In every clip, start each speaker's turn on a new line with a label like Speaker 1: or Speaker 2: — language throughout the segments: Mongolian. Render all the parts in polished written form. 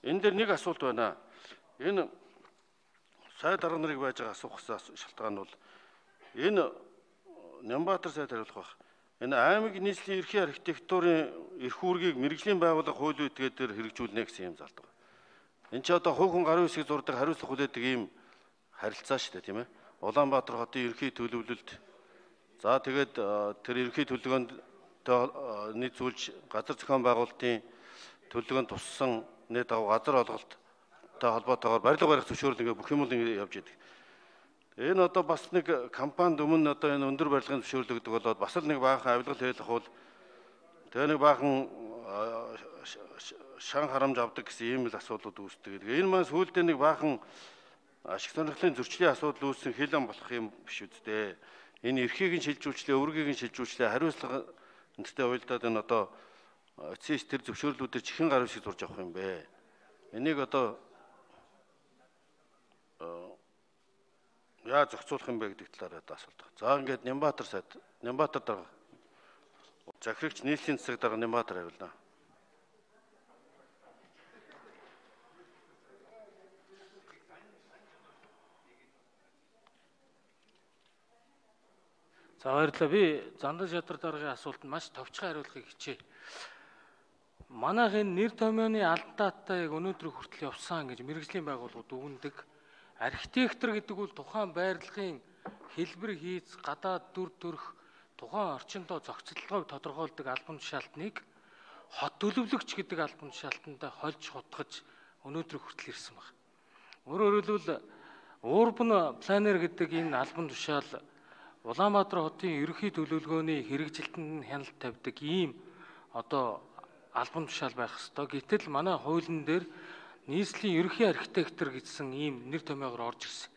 Speaker 1: энэ дээр нэг асуулт байна. Энэ сайд дарга нарыг байж байгаа асуух шалтгаан бол энэ Нямбатар сайд хариулах байх. Энэ аймаг нийслэлийн ерхий архитектурын эрх үүргийг мэрэгжлийн байгууллага хууль этгээд хэрэгжүүлнэ гэсэн юм залдаг. Энэ ч одоо хувь хүн гарын үсгийг зурдаг хариуцлага хүлээдэг ийм харилцаа шүү дээ, тийм ээ. Улаанбаатар хотын ерхий төлөвлөлт. За тэгээд тэр ерхий төлөвлөгөөнд нийцүүлж газар зохион байгуулалтын төлөвлөгөөнд туссан нийт газар олголттой холбоотойгоор барилга барих зөвшөөрөл ингээ бүх юм ингээ явж идэг. Энэ одоо бас нэг компанид өмнө одоо энэ өндөр барилгын зөвшөөрөл өгдөг болоод бас л нэг баахан авилгал хийх бол тэгээ нэг баахан шан харамж авдаг гэсэн ийм л асуудлууд үүсдэг. Энэ маань сүүлдээ нэг баахан ашиг сонирхлын зөрчлийн асуудал үүссэн хилэн болох юм биш үсттэй. Энэ эрхийг нь шилжүүлчлээ, өвөргийг нь шилжүүлчлээ, хариуцлага энэтэй уялдаад энэ одоо эцсийн тэр зөвшөөрлүүдээр чихэн гар үсгийг зурж авах юм бэ. Энийг одоо яаж зохицуулах юм бэ гэдэг талаар асуулт байна. За ингээд Нямбатар сайд, Нямбатар дарга захирагч нийслэлийн засаг дарга Нямбатар хариулна.
Speaker 2: За баярлалаа. Би Зандан шадар даргын асуултанд маш товчхон хариулахыг хичээе. Манайхын нэр томьёоны алдаатай яг өнөөдөр хүртэл явсан гэж мэрэгжлийн байгууллагууд үгэндэг. Архитектор гэдэг бол тухайн байрлалын хэлбэр хийц, гадаад дүр төрх, тухайн орчиндөө зохицолтойг тодорхойлдог албан тушаалтныг хот төлөвлөгч гэдэг албан тушаалтанд хольж хутгаж өнөөдөр хүртэл ирсэн байна. Өөрөөр хэлбэл урбан планер гэдэг энэ албан тушаал Улаанбаатар хотын ерөнхий төлөвлөгөөний хэрэгжилтэнд хяналт тавьдаг ийм одоо албан тушаал байх ёстой. Гэтэл манай хуулийн дээр нийслэлийн ерөнхий архитектор гэсэн ийм нэр томьёогоор орж ирсэн.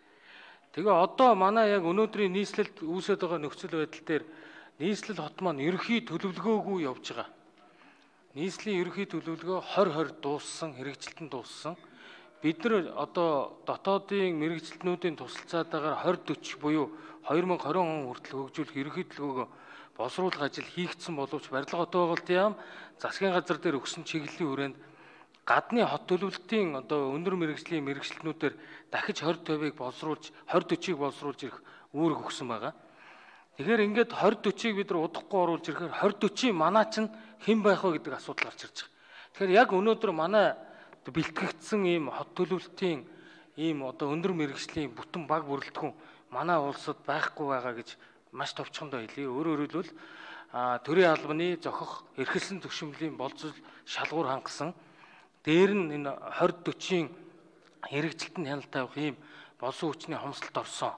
Speaker 2: Тэгээ одоо манай яг өнөөдрийн нийслэлд үүсэж байгаа нөхцөл байдал дээр нийслэл хот маань ерөнхий төлөвлөгөөгүй явж байгаа. Нийслэлийн ерөнхий төлөвлөгөө 2020 дууссан, хэрэгжилтэн дууссан. Бид нар одоо дотоодын мэрэгжилтнүүдийн тусалцаатайгаар 2040 буюу 2020 он хүртэл хөгжүүлэх ерөнхий төлөвлөгөөгөө боловсруулах ажил хийгдсэн боловч барилга хот байгуулалтын яам засгийн газар дээр өгсөн чиглэлийн хүрээнд гадны хот төлөвлөлтийн одоо өндөр мэрэгжлийн мэрэгчлэнүүдээр дахиж 2050-ыг боловсруулж 2040-ыг боловсруулж ирэх үүрэг өгсөн байгаа. Тэгэхээр ингээд 2040-ыг бид нар удахгүй оруулж ирэхээр 2040-ийн манаа чинь хэн байх вэ гэдэг асуудал гарч ирж байгаа. Тэгэхээр яг өнөөдөр манай бэлтгэгдсэн ийм хот төлөвлөлтийн ийм одоо өндөр мэрэгжлийн бүтэн баг бүрэлдэхүүн манай улсад байхгүй байгаа гэж маш товчхондоо хэлье. Өөрөөр хэлбэл төрийн албаны зохих эрхэлсэн зөвшөөрлөлийн болцол шалгуур хангасан дээр нь энэ 2040-ийн хэрэгжилтэнд хяналт тавих ийм болсон хүчний хомсдолд орсон.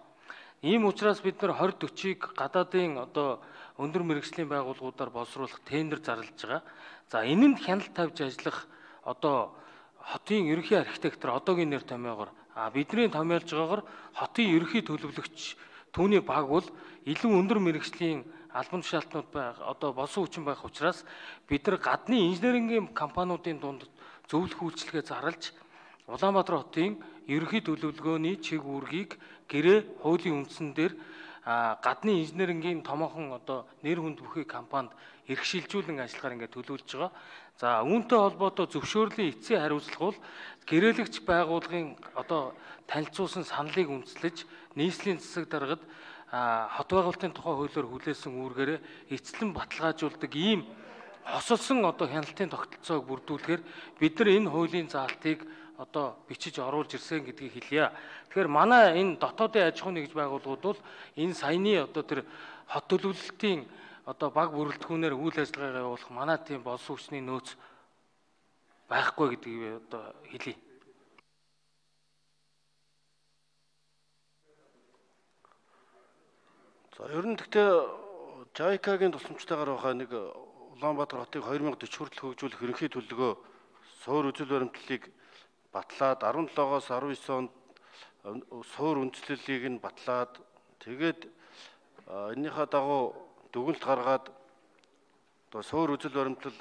Speaker 2: Ийм учраас бид нар 2040-ыг гадаадын одоо өндөр мэрэгжлийн байгууллагуудаар боловсруулах тендер зарлаж байгаа. За энэнд хяналт тавьж ажиллах одоо хотын ерөнхий архитектор одоогийн нэр томьёогоор бидний томьёолж байгаагаар хотын ерөнхий төлөвлөгч түүний баг бол илүү өндөр мэрэгжлийн албан тушаалтнууд байх одоо болсон хүчин байх учраас бид нар гадны инженерингийн компаниудын дунд зөвлөх үйлчилгээ зарлж Улаанбаатар хотын ерөнхий төлөвлөгөөний чиг үүргийг гэрээ хуулийн үндсэн дээр гадны инженерингийн томоохон одоо нэр хүнд бүхий компанид эрх шилжүүлэн ажиллагаар ингээд төлөвлөж байгаа. За үүнтэй холбоотой зөвшөөрлийн эцсийн хариуцлага бол гэрээлэгч байгууллагын одоо танилцуулсан саналыг үндэслэж нийслэлийн засаг даргад хот байгуулалтын тухай хуулиар хүлээсэн үүргээрээ эцэлэн баталгаажуулдаг ийм хосолсон одоо хяналтын тогтолцоог бүрдүүлэхээр бид нар энэ хуулийн заалтыг одоо бичиж оруулж ирсэн гэдгийг хэлье. Тэгэхээр манай энэ дотоодын аж ахуйн нэгж байгууллагууд бол энэ саяны одоо тэр хот төлөвлөлтийн одоо баг бүрэлдэхүүнээр үйл ажиллагаагаа явуулах манай тийм болсон хүчний нөөц байхгүй гэдгийг одоо хэлье.
Speaker 1: За ер нь гэхдээ JICA-гийн тусламжтайгаар байгаа нэг Улаанбаатар хотыг 2040 хүртэл хөгжүүлэх ерөнхий төлөвлөгөө суур үзэл баримтлалыг батлаад 17-оос 19 онд суур үндэслэлийг нь батлаад тэгээд энийхээ дагуу дүгнэлт гаргаад одоо суур үзэл баримтлал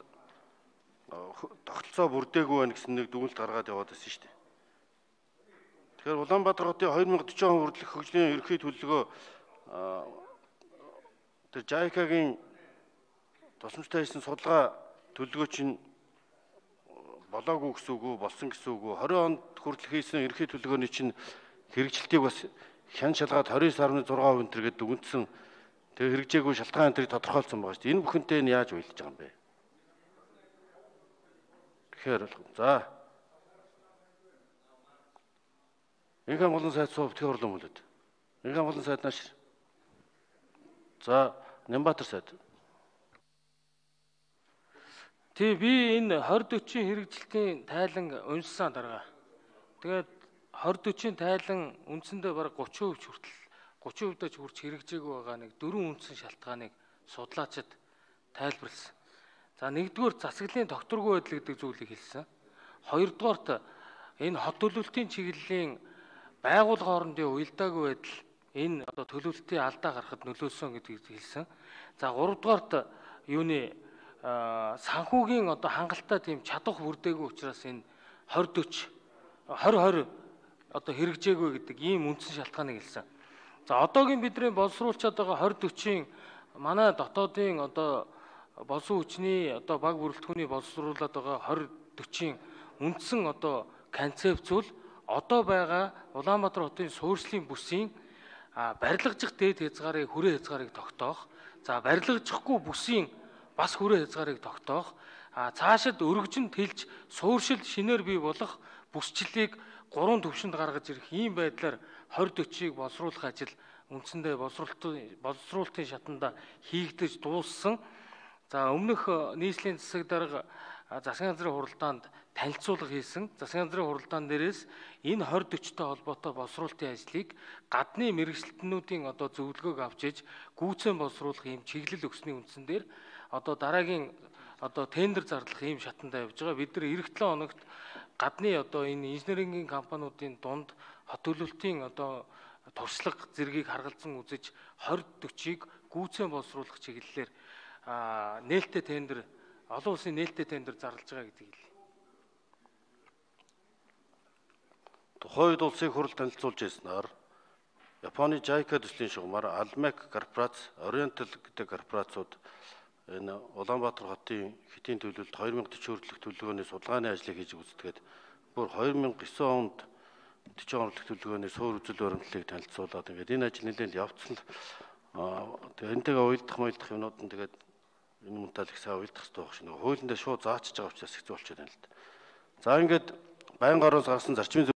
Speaker 1: тогтолцоо бүрдээгүй байна гэсэн нэг дүгнэлт гаргаад яваад байсан шүү дээ. Тэгэхээр Улаанбаатар хотын 2040 он хүртэлх хөгжлийн ерөнхий төлөвлөгөө тэр JICA-гийн тусламжтай хийсэн судалгаа төлөвлөгөө чинь болоогүй гэсэн үг үү, болсон гэсэн үг үү? 20 онд хүртэл хийсэн ерхий төлөвлөгөөний чинь хэрэгжилтийг бас хян шалгаад 29.6% энэ гэдэг үндсэн тэгээ хэрэгжээгүй шалтгаан энэ тодорхойлсон байгаа шүү дээ. Энэ бүхэнтэй нь яаж уялдаж байгаа юм бэ? Тэгэхээр за инхан болон сайд суув тхи орлон мөлөд. Инхан болон сайд нааш. За Нямбатар сайд.
Speaker 2: Тий би энэ 2040 хэрэгжилтийн тайлан уншсан дарга. Тэгээд 2040 тайлан үндсэндээ бараг 30% хүртэл 30%-д хүрч хэрэгжээгүй байгаа нэг дөрвөн үндсэн шалтгааныг судлаачид тайлбарласан. За нэгдүгээр засаглалын докторгүй байдал гэдэг зүйлийг хэлсэн. Хоёрдугаарт энэ хот төлөвлөлтийн чиглэлийн байгууллага хоорондын уялдаагүй байдал энэ одоо төлөвлөлтийн алдаа гарахад нөлөөсөн гэдгийг хэлсэн. За гуравдугаарт юуны санхүүгийн одоо хангалттай тийм чадвах бүрдээгүй учраас энэ 2020 одоо хэрэгжээгүй гэдэг ийм үндсэн шалтгааныг хэлсэн. За одоогийн бидний боловсруулчаад байгаа 2040-ийн манай дотоодын одоо болсон хүчний одоо баг бүрэлдэхүүний боловсруулаад байгаа 2040-ийн үндсэн одоо концепц бол одоо байгаа Улаанбаатар хотын суурьшлийн бүсийн барилгажих дээд хязгаарыг хүрээ хязгаарыг тогтоох. За барилгажихгүй бүсийн бас хүрээ хязгаарыг тогтоох. Цаашид өргөжин тэлж суурьшил шинээр бий болох бүсчлэлийг 3 төвшөнд гаргаж ирэх ийм байдлаар 2040-ыг боловсруулах ажил үндсэндээ боловсруулалтын шатанда хийгдэж дууссан. За өмнөх нийслэлийн засаг дарга засгийн газрын хуралдаанд танилцуулга хийсэн. Засгийн газрын хуралдаан дээрээс энэ 2040-той холбоотой боловсруулалтын ажлыг гадны мэргэжилтнүүдийн одоо зөвлөгөөг авч иж гүйцэн боловсруулах ийм чиглэл өгсөний үндсэн дээр одоо дараагийн одоо тендер зарлах ийм шатанда явж байгаа. Бид нар эх 7 хоногт гадны одоо энэ инженерингийн компаниудын дунд хот төлөвлөлтийн одоо туршлага зэргийг харгалзан үзэж 2040-ыг гүйцэн боловсруулах чиглэлээр нээлттэй тендер олон улсын нээлттэй тендер зарлаж байгаа гэдгийг хэлье.
Speaker 1: Тухайд улсын хурал танилцуулж ирснээр Японы JICA төслийн шугамар Almec корпорац, Oriental гэдэг корпорацууд энэ Улаанбаатар хотын хэтийн төлөвлөлт 2040 хүртэлх төлөвлөгөөний судалгааны ажлыг хийж үздэгээд бүр 2009 онд 40 орлох төлөвлөгөөний суур үзэл баримтлалыг танилцуулаад ингээд энэ ажил нэлээд явцсан л тэгээ энтэйгээ уялдах юмнууд нь тэгээд энэ мунтал их сайн уялдах хэрэгтэй байх шин. Хуулиндээ шууд заачиж байгаа учраас хэцүү болчиход байна л да. За ингээд байнга ороос гарсан зарчмын